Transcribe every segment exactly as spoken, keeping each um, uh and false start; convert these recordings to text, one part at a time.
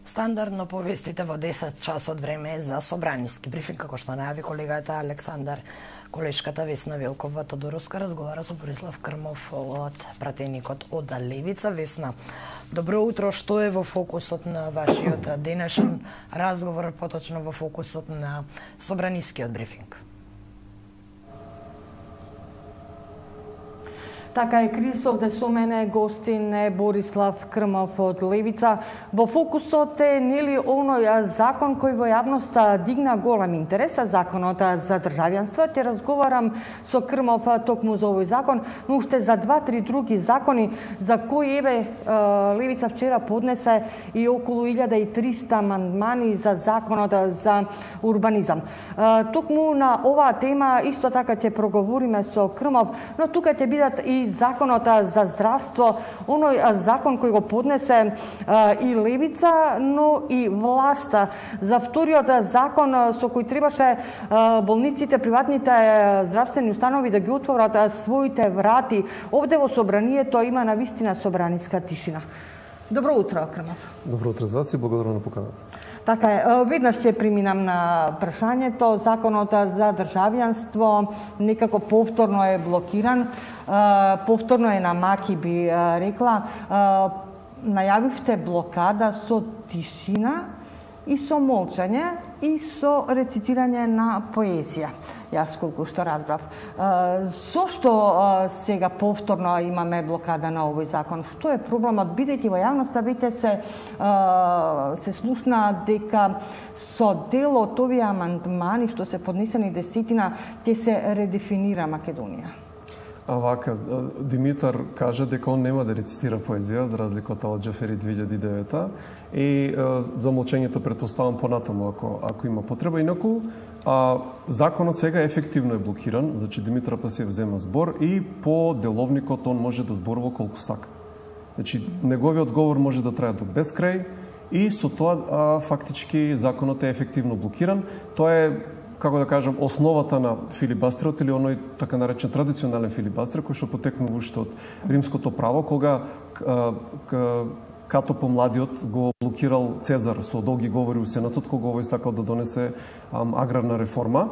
Стандардно повестите во десет часот време е за собраниски брифинг, како што најави колегата Александар. Колешката Весна Велкова Тодоровска разговара со Борислав Крмов од пратеникот од Левица. Весна, добро утро, што е во фокусот на вашиот денешен разговор, поточно во фокусот на собранискиот брифинг? Така е, Крис, овде со мене гостин е Борислав Крмов од Левица. Во фокусот е нели оној закон кој во јавноста дигна голем интерес, законот за државјанство. Те разговарам со Крмов токму за овој закон, но уште за два-три други закони за кои еве Левица вчера поднесе и околу илјада и триста амандмани за законот за урбанизам. Токму на оваа тема исто така ќе проговориме со Крмов, но тука ќе бидат и законот за здравство, оној закон кој го поднесе и Левица, но и власта. За вториот закон со кој требаше болниците, приватните здравствени установи да ги отворат своите врати. Овде во собранието има навистина собраниска тишина. Добро утро, Крмов. Добро утро за вас и благодарам на поканата. Така е, веднаш ќе преминам на прашањето. Законот за државјанство некако повторно е блокиран, повторно е на маки, би рекла. Најавивте блокада со тишина и со молчање и со рецитирање на поезија. Јас колку што разбрав. Зошто сега повторно имаме блокада на овој закон? Што е проблемот? Бидејќи во јавноста веќе се се слушна дека со дел од овие амандмани што се поднесени десетина ќе се редефинира Македонија. А вака, Димитар кажа дека он нема да рецитира поезија, за разлика од Џафери две илјади и девета, и за молчењето предпоставам понатаму ако ако има потреба. Инаку а, законот сега ефективно е блокиран, значи Димитар Пасиев зема збор и по деловникот он може да зборува колку сака. Значи неговиот говор може да трае до безкрај и со тоа а, фактички законот е ефективно блокиран. Тоа е, како да кажам, основата на филибастерот или оној така наречен традиционален филибастер кој што потекнува уште од римското право, кога а, к, Като помладиот го блокирал Цезар со долги говори у Сенатот кога овој сакал да донесе ам, аграрна реформа.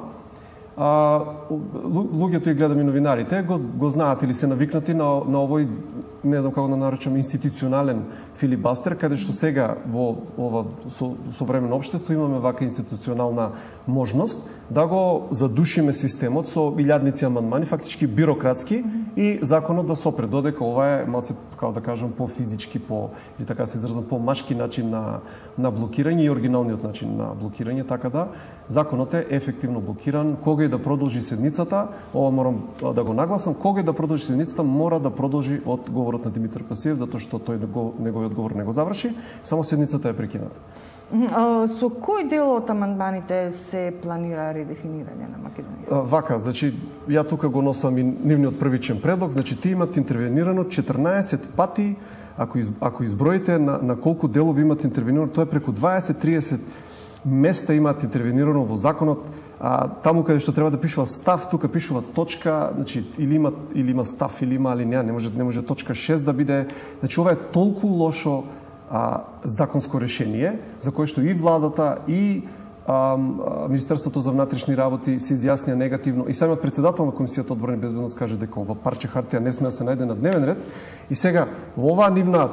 А, луѓето и гледам и новинарите го, го знаат или се навикнати на, на овој, не знам како да наречам, институционален филибастер, каде што сега во ова со, современо општество имаме вака институционална можност да го задушиме системот со илјадници амандмани, фактички бирократски, и законот да сопре, додека ова е малце, како да кажам, по физички, по, или така се изразам, по машки начин на, на блокирање и оригиналниот начин на блокирање, така да законот е ефективно блокиран. Кога и да продолжи седницата, ова морам да го нагласам, кога и да продолжи седницата мора да продолжи од говорот на Димитар Пасиев, затоа што тој неговиот говор не го заврши, само седницата е прекината. Со кој дел од амандманите се планира редефинирање на Македонија? Вака, значи, ја тука го носам и нивниот првичен предлог, значи ти имат интервенирано четрнаесет пати, ако, из, ако изброите на, на колку делови имат интервенирано, тоа е преку дваесет до триесет места имат интервенирано во законот. А, таму каде што треба да пишува став, тука пишува точка, значи или има или има став или има алинеја, не може не може точка шест да биде. Значи ова е толку лошо а, законско решение за кое што и владата и а, Министерството за внатрешни работи се изјаснија негативно и самиот председател на Комисијата одбрана и безбедност каже дека ова парче хартија не сме да се најде на дневен ред. И сега во оваа нивна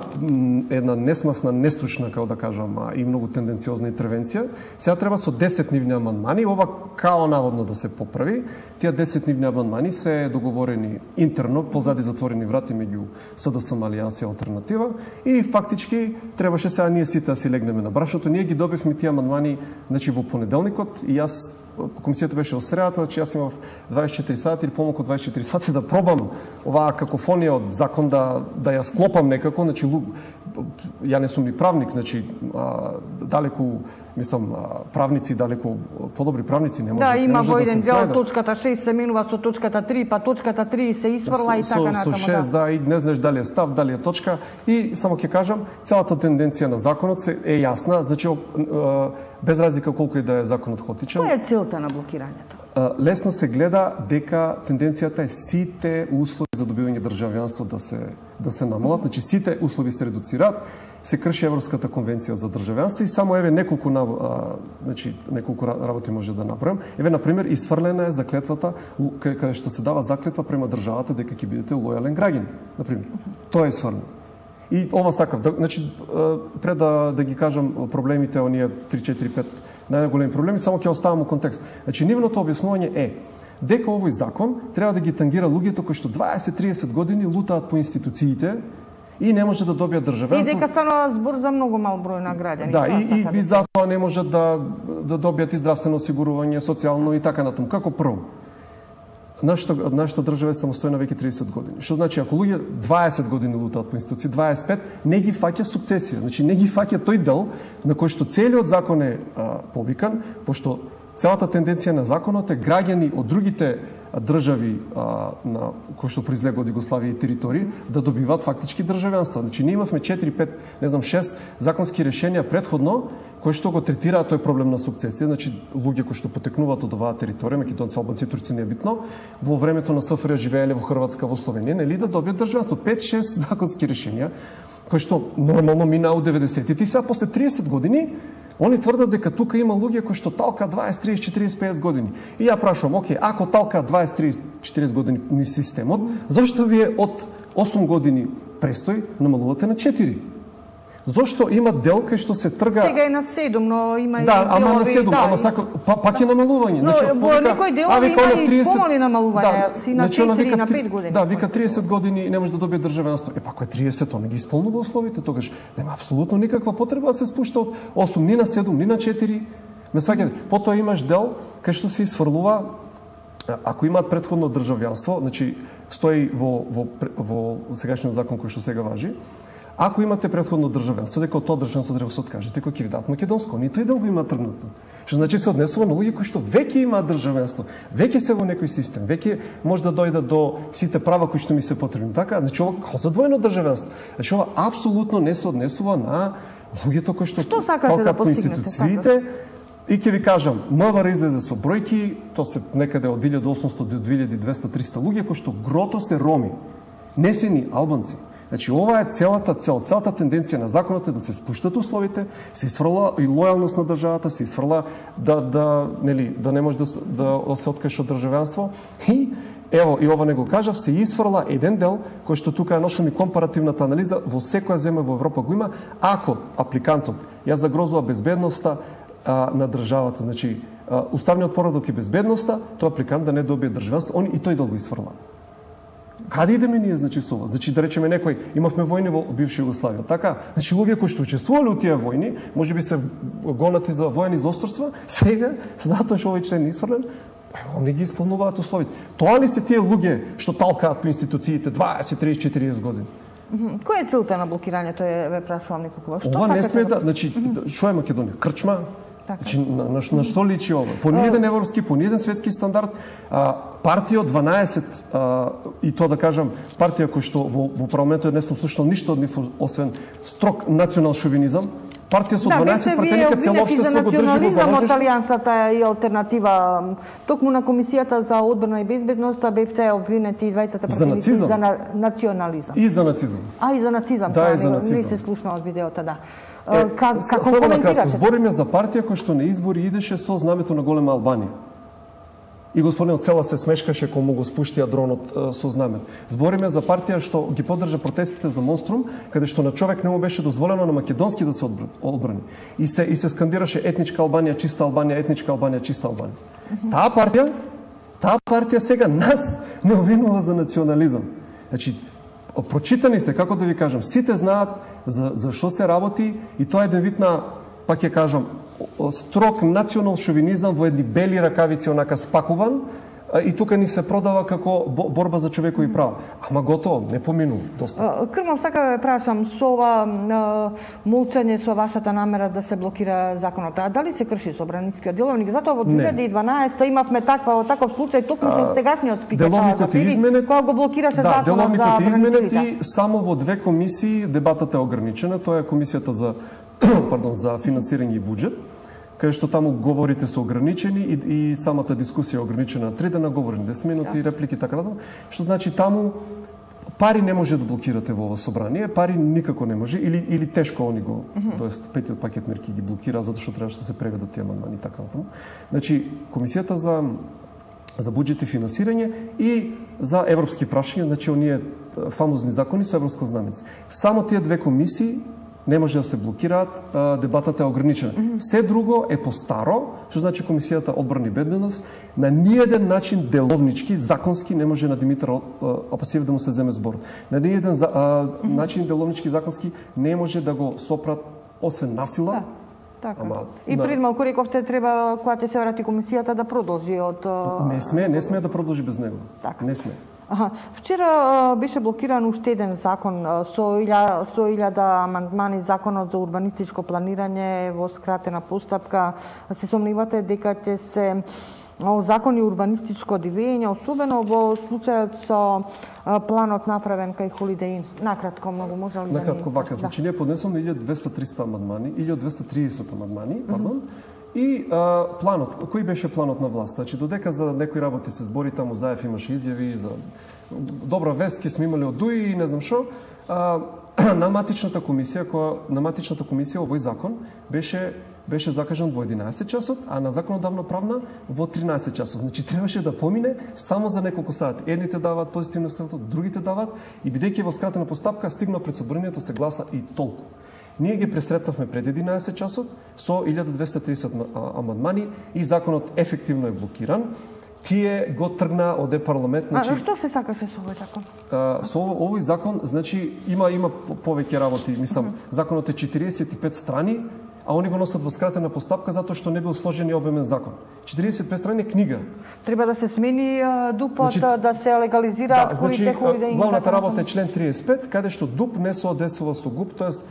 една несмасна, нестручна, како да кажам, и многу тенденциозна интервенција, сега треба со десет нивни амандмани ова као наводно да се поправи. Тие десет нивни амандмани се договорени интерно позади затворени врати меѓу СДСМ, Алијанс и Алтернатива, и фактички требаше сега ние сите да си легнеме на брашното. Ние ги добивме тие амандмани, значи во понеделникот, и јас, комисијата беше во средата, значи јас имав дваесет и четири сати или помалку од дваесет и четири сати да пробам оваа какофонија од закон да да ја склопам некако, значи ја не сум и правник, значи а, далеку мислам правници далеку подобри правници не може да има во еден дел точката шест се менува со точката три, па точката три се изфрла и така натаму. Со шест да, и не знаеш дали е став, дали е точка, и само ќе кажам, целата тенденција на законот се е јасна, значи без разлика колку и да е законот хотичен. Која е целта на блокирањето? Лесно се гледа дека тенденцијата е сите услови за добивање државјанство да се да се намалат, значи сите услови се редуцираат се крши Европската конвенција за државјанство и само еве неколку а, значи неколку работи може да направам. Еве на пример исфрлена е заклетвата каде што се дава заклетва према државата дека ќе бидете лојален граѓанин, на пример. Тоа е исфрлено. И ова сакав, да, значи пред да да ги кажам проблемите оние три четири пет најголеми проблеми, само ќе оставам у контекст. Значи нивното објаснување е дека овој закон треба да ги тангира луѓето кои што дваесет триесет години лутаат по институциите и не може да добијат државенство. И дека станува збор за многу мал број на граѓани. Да, и, и, и затоа не можат да, да добијат и здравствено осигурување, социјално и така натаму. Како прво? Нашата, нашата држава е самостојна веќе триесет години. Што значи, ако луѓе дваесет години лутаат по институции, дваесет и пет, не ги фаќа сукцесија. Значи, не ги фаќа тој дел на кој што целиот закон е а, повикан, пошто целата тенденција на законот е граѓани од другите држави а, на кои што произлега од Југославија и територии да добиваат фактички државјанства. Значи ние имавме четири пет, не знам шест законски решенија предходно кои што го третираат тој проблем на сукцесија, значи луѓе кои што потекнуваат од оваа територија, македонци, албанци, турци, не е битно, во времето на СФР живееле во Хрватска, во Словенија, нели да добијат државенство. пет шест законски решенија кои што нормално минаа од деветдесетите и сега после триесет години они тврдат дека тука има луѓе кои што талка дваесет, тридесет, четириесет, петдесет години. И ја прашувам, оке, ако талка дваесет, тридесет, четириесет години ни системот, зошто вие од осум години престој намалувате на четири? Зошто има дел кај што се трга... Сега е на седум, но има и да, ама делови, на седум, да, ама сака, па, пак е намалување. Но значи, во некој делови има и помали намалување, да, и на четири, и на пет години. Да, вика триесет години не може да добие државенство. Е, па кој е триесет, он не ги исполнува условите, тогаш нема апсолутно никаква потреба да се спушта од осум, ни на седум, ни на четири. Ме сваќате, потоа имаш дел кај што се исфрлува, ако имаат претходно државјанство, значи стои во, во, во сегашниот закон кој што сега важи, ако имате претходно државенство, дека од тоа државенство треба да се откажете, кој ќе ви дадат македонско, ни тој дел го има тргнато. Што значи се однесува на луѓе кои што веќе имаат државенство, веќе се во некој систем, веќе може да дојдат до сите права кои што ми се потребни. Така, значи ова како за двојно државенство. Значи ова апсолутно не се однесува на луѓето кои што што сакате да постигнете? И ќе ви кажам, МВР излезе со бројки, тоа се некаде од илјада и осумстотини до две илјади и двесте до триста луѓе кои што грото се роми. Не се ни албанци. Значи, ова е целата цел, целата тенденција на законот е да се спуштат условите, се исфрла и лојалност на државата, се исфрла да да нели да не може да да се откажеш од државенство и ево и ова не го кажав, се исфрла еден дел кој што тука носам и компаративната анализа во секоја земја во Европа го има, ако апликантот ја загрозува безбедноста а, на државата, значи а, уставниот поредок и безбедноста, тој апликант да не добие државенство, он и тој да го исфрла. Каде идеме ние, значи, со ова? Значи, да речеме некој, имавме војни во бивша Југославија, така? Значи, луѓе кои што учествувале у тие војни, можеби се гонати за воени злосторства, сега, затоа што овој член не исфрлен, они ги исполнуваат условите. Тоа ли се тие луѓе што талкаат по институциите дваесет, тридесет, четириесет години? Која е целта на блокирањето, ве прашувам неколку? Што ова не сме да, значи, што е Македонија? Крчма? Така. Значи, на, на, на што личи ова? По ниеден европски, по ниеден светски стандард, а, партија од дванаесет, а, и тоа да кажам, партија кој што во, во парламентот не сум слушнал ништо од нив, освен строг национал шовинизам, партија со дванаесет пратеника, цело општество го држи во заложништво. Од Алијансата и алтернатива, токму на Комисијата за одбрана и безбедност бевте обвинети двајцата пратеници за, за на, национализам. И за нацизам. А, и за нацизам, да, тоа и за не, нацизам. не се слушна од видеото, да. Е, как, како само на кратко, коментирате? збориме за партија која што на избори идеше со знамето на голема Албанија. И господинот Цела се смешкаше кога му го спуштија дронот е, со знамето. Збориме за партија што ги поддржа протестите за Монструм, каде што на човек не му беше дозволено на македонски да се одбрани. И се и се скандираше етничка Албанија, чиста Албанија, етничка Албанија, чиста Албанија. Mm -hmm. Таа партија, таа партија сега нас не обвинува за национализам. Значи, прочитани се, како да ви кажам, сите знаат за за што се работи и тоа е еден вид на, пак ќе кажам, строг национал шовинизам во едни бели ракавици онака спакуван и тука ни се продава како борба за човекови права. Ама готово, не поминува доста. Крмов, сака да прашам, со ова молчање, со вашата намера да се блокира законот, а дали се крши собранискиот деловник? Затоа во две илјади и дванаесета имавме таква таков случај токму со сегашниот спикер. Деловникот е изменет. Кога го блокираше да, законот за деловникот е изменет бранителите. и само во две комисии дебатата е ограничена. Тоа е комисијата за пардон, за финансирање и буџет, кај што таму говорите се ограничени и, и самата дискусија е ограничена на три дена, говори десет минути, да. Реплики така натаму, што значи таму пари не може да блокирате во ова собрание, пари никако не може или или тешко они го, mm -hmm. тоест петиот пакет мерки ги блокира затоа што требаше да се преведат тие амандмани и така натаму. Значи комисијата за за буџет и финансирање и за европски прашања, значи оние фамозни закони со европско знамец. Само тие две комисии не може да се блокираат, дебатата е ограничена. Mm -hmm. Се друго е по-старо, што значи Комисијата одбрана и безбедност, на ниеден начин деловнички, законски не може на Димитар Апасиев да му се земе збор. На ниеден за, а, mm -hmm. начин деловнички, законски не може да го сопрат освен насила. Да. Така. Ама, и пред малку рековте треба кога ќе се врати комисијата да продолжи од Не сме, не сме да продолжи без него. Така. Не сме. Аха. Вчера а, беше блокиран уште еден закон а, со илја, со илјада амандмани, законот за урбанистичко планирање во скратена постапка. Се сомневате дека ќе се закони урбанистичко дивење, особено во случајот со а, планот направен кај Holiday Inn. Накратко, многу може ли да Накратко ни... вака, значи ние поднесоме илјада двесте триста амандмани, илјада двесте триесет амандмани, пардон. Mm -hmm. И а, планот, кој беше планот на власт? Значи додека за некои работи се збори, таму Заев имаше изјави за добра вест, ке сме имали од ДУИ и не знам што, а, на матичната комисија, која на матичната комисија овој закон беше беше закажан во единаесет часот, а на законодавно правна во тринаесет часот. Значи требаше да помине само за неколку сати. Едните даваат позитивно ставото, другите даваат и бидејќи во скратена постапка стигна пред собранието се гласа и толку. Ние ги пресретнавме пред единаесет часот со илјада двесте триесет амандмани и законот ефективно е блокиран. Тие го тргна од парламент, значи. А што се сакаше со овој закон? А, со овој закон, значи има има повеќе работи, мислам, mm -hmm. законот е четириесет и пет страни, а они го носат во скратена постапка затоа што не бил сложен и обемен закон. четириесет и пет страни е книга. Треба да се смени ДУП-от, значи, да се легализираат да, значи, Holiday Inn. Главната работа е член триесет и пет, каде што ДУП не соодействува со ГУП, тоест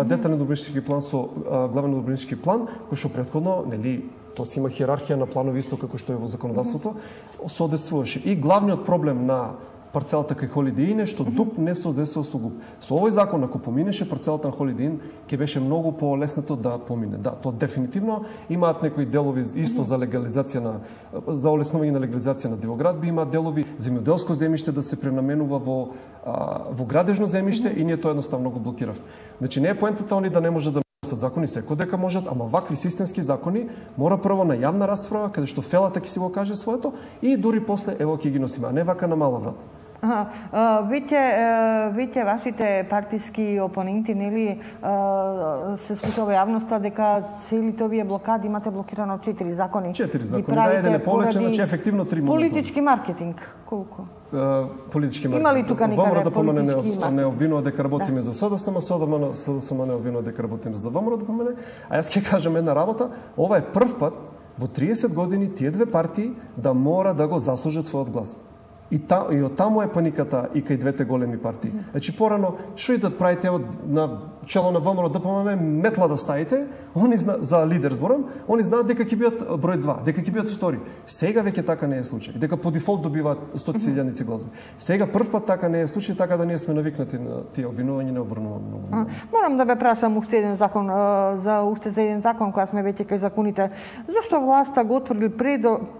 детален урбанистички план со главен урбанистички план, кој што претходно, нели, тоа си има хиерархија на планови исто како што е во законодавството, соодействуваше. И главниот проблем на парцелата кај Holiday Inn е што ДУП не соодействува со ГУП. Со овој закон, ако поминеше парцелата на Holiday Inn, ќе беше многу полеснато да помине. Да, тоа дефинитивно имаат некои делови исто за легализација на за олеснување на легализација на дивоградби, има делови земјоделско земјиште да се пренаменува во а, во градежно земјиште и ние тоа едноставно го блокиравме. Значи не е поентата они да не може да закони секој дека можат, ама вакви системски закони мора прво на јавна расправа каде што фелата ќе си го каже своето и дури после ево ќе ги носиме, а не вака на мала врата. Аха, веќе веќе вашите партиски опоненти нели се слуша во јавноста дека целите овие блокади имате блокирано четири закони. Четири закони, да, еден е повеќе, значи ефективно три момента. Политички маркетинг, колку? Uh, политички маркетинг. Има ли тука некаде да помене политички не, не обвинува дека работиме да. за СДСМ, СДСМ не обвинува дека работиме за ВМРО да помене, а јас ќе кажам една работа, ова е прв пат во триесет години тие две партии да мора да го заслужат својот глас. И, та, и од таму е паниката и кај двете големи партии. Значи порано, што и да правите од, на чело на ВМРО да помаме метла да ставите, они зна, за лидер зборам, они знаат дека ќе бидат број два, дека ќе бидат втори. Сега веќе така не е случај. Дека по дефолт добиваат стотици илјадници гласови. Сега прв пат така не е случај, така да ние сме навикнати на тие обвинувања не обрнуваме многу. А, морам да ве прашам уште еден закон за уште за еден закон кога сме веќе кај законите. Зошто власта го отврли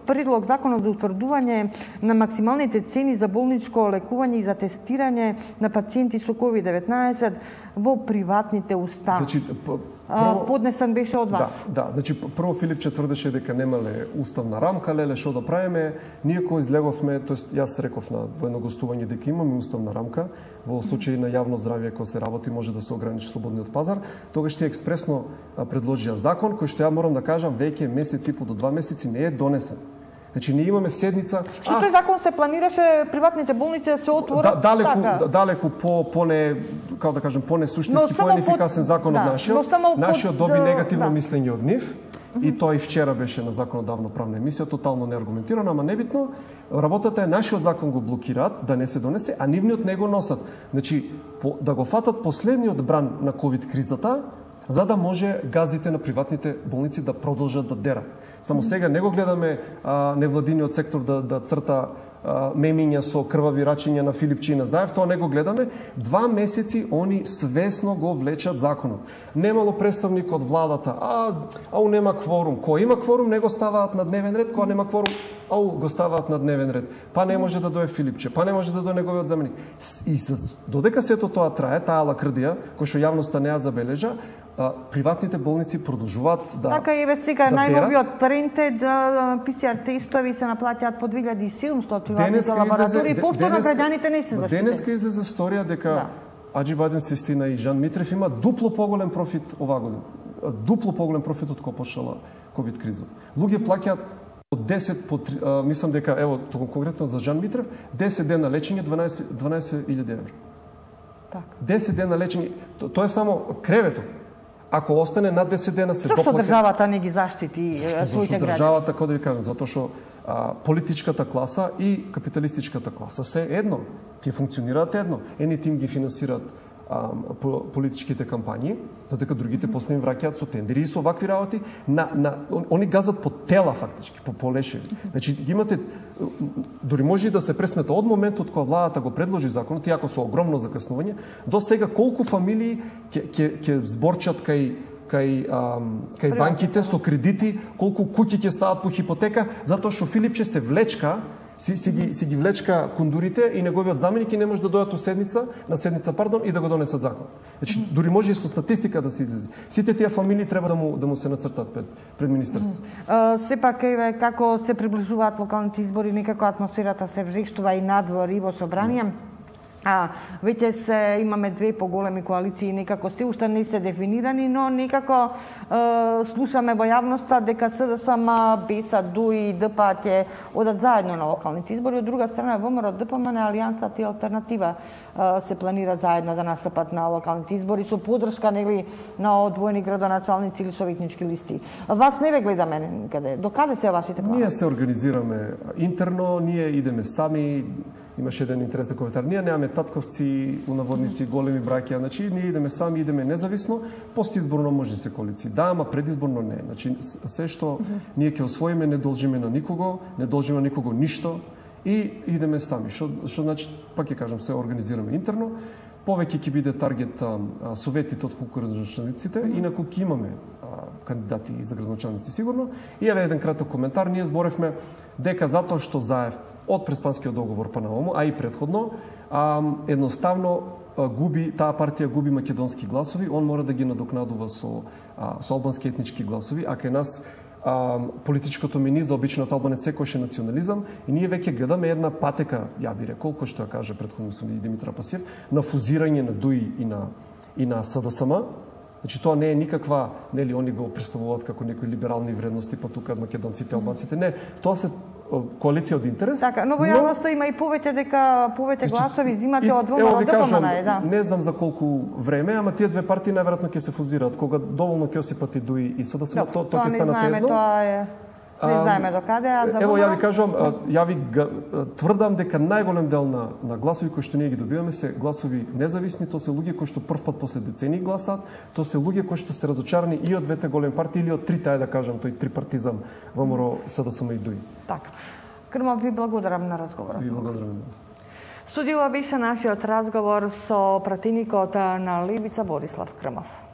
предлог законот за утврдување на максималните цени за болничко лекување и за тестирање на пациенти со ковид деветнаесет во приватните установи? Значи, прво, поднесен беше од вас. Да, да, значи прво Филипче тврдеше дека немале уставна рамка, леле што да правиме. Ние кога излеговме, тоест јас реков на во едно гостување дека имаме уставна рамка, во случај на јавно здравје кога се работи може да се ограничи слободниот пазар, тогаш тие експресно предложија закон кој што ја морам да кажам веќе месец и по до два месеци не е донесен. Значи ние имаме седница. Со тој закон се планираше приватните болници да се отворат. Да, далеку, така. далеку по по не, како да кажем, по не суштински, по неефикасен под... закон да, од нашиот. Нашиот доби негативно да. мислење од нив. Mm -hmm. И тој вчера беше на законодавно правна емисија, тотално неаргументирано, ама небитно. Работата е нашиот закон го блокираат да не се донесе, а нивниот не го носат. Значи по, да го фатат последниот бран на ковид кризата, за да може газдите на приватните болници да продолжат да дерат. Само сега не го гледаме а, невладиниот сектор да, да црта мемиња со крвави рачиња на Филипчи и на Заев, тоа не го гледаме. Два месеци они свесно го влечат законот. Немало представник од владата, а ау нема кворум. Кој има кворум не го ставаат на дневен ред, кога нема кворум ау го ставаат на дневен ред. Па не може да дое Филипче, па не може да дое неговиот заменик. И додека сето тоа трае, таа лакрдија кој што јавноста не ја забележа, приватните болници продолжуваат да Така еве сега да најновиот тренд е да пи си ар тестови се наплаќаат по две илјади и седумстотини приватните лаборатории, повторно граѓаните не се заштитени. Денеска излезе сторија дека да. Аџибадем Систина и Жан Митрев има дупло поголем профит оваа година. Дупло поголем профит од кога почнала ковид кризата. Луѓе плаќаат од десет по три, а, мислам дека ево конкретно за Жан Митрев десет дена лечење дванаесет илјади евра. Така. десет дена лечење, то, тоа е само креветот. Ако остане над десет дена се доплаќа. Зашто државата не ги заштити своите граѓани? Државата, како да ви кажам, затоа што а, политичката класа и капиталистичката класа се едно. Тие функционираат едно. Едни тим ги финансираат а, политичките кампањи, додека другите после им враќаат со тендери и со вакви работи. На, на, они газат по тела фактички, по полешеви. Значи ги имате, дури може и да се пресмета од моментот кога владата го предложи законот, иако со огромно закаснување, до сега колку фамилии ќе ќе ќе зборчат кај кај а, кај банките со кредити, колку куќи ќе стават по хипотека, затоа што Филипче се влечка Си, си, ги, си ги влечка кондурите и неговиот заменик и не може да дојдат у седница, на седница, пардон, и да го донесат закон. Значи, дури може и со статистика да се излези. Сите тие фамилии треба да му, да му се нацртат пред, пред министерството. Uh, сепак, еве, како се приближуваат локалните избори, некако атмосферата се врштува и надвор и во собрание. А, веќе се имаме две поголеми коалиции, некако се уште не се дефинирани, но некако е, слушаме во јавноста дека СДСМ, БЕСА-ДУ и ДП ќе одат заедно на локалните избори. Од друга страна, ВМРО, ДПМН, Алијансата и Алтернатива е, се планира заедно да настапат на локалните избори со подршка нели на одвоени градоначалници или советнички листи. Вас не ве гледаме никаде. До каде се вашите планови? Ние се организираме интерно, ние идеме сами. Имаше еден интересен коментар. Ние немаме татковци, унаводници, големи браќа, значи ние идеме сами, идеме независно, постизборно може се коалиции. Да, ама предизборно не. Значи се што ние ќе освоиме не должиме на никого, не должиме на никого ништо и идеме сами. Што што значи, пак ќе кажам, се организираме интерно. Повеќе ќе биде таргет а, советите од колку градоначалниците, инаку ќе имаме а, кандидати за градоначалници сигурно. И еве еден краток коментар. Ние зборевме дека затоа што Заев од Преспанскиот договор па наому, а и предходно, а, едноставно а, губи, таа партија губи македонски гласови, он мора да ги надокнадува со, а, со албански етнички гласови, а кај нас а, политичкото мени за обичниот албанец секојаш е национализам и ние веќе гледаме една патека, ја би рекол, кој што ја каже предходно сам и Димитар Пасиев, на фузирање на ДУИ и на, и на СДСМ. Значи тоа не е никаква, нели они го представуваат како некои либерални вредности, па тука македонците, албанците, не, тоа се коалиција од интерес. Така, но во јавноста има и повеќе дека повеќе гласови зимате од ВМРО ДПМН, да. Не знам за колку време, ама тие две партии најверојатно ќе се фузираат кога доволно ќе осипат и ДУИ и СДСМ, тоа тоа ќе станат едно. Тоа е не знаеме до каде, а за Ево ја ви кажувам, ја ви тврдам дека најголем дел на на гласови кои што ние ги добиваме се гласови независни, тоа се луѓе кои што прв пат после децении гласаат, тоа се луѓе кои што се разочарани и од двете големи партии или од трите, ајде да кажам, тој трипартизам ВМРО, СДСМ и ДУИ. Така. Крмов, ви благодарам на разговорот. Ви благодарам. Студио беше нашиот разговор со пратеникот на Левица Борислав Крмов.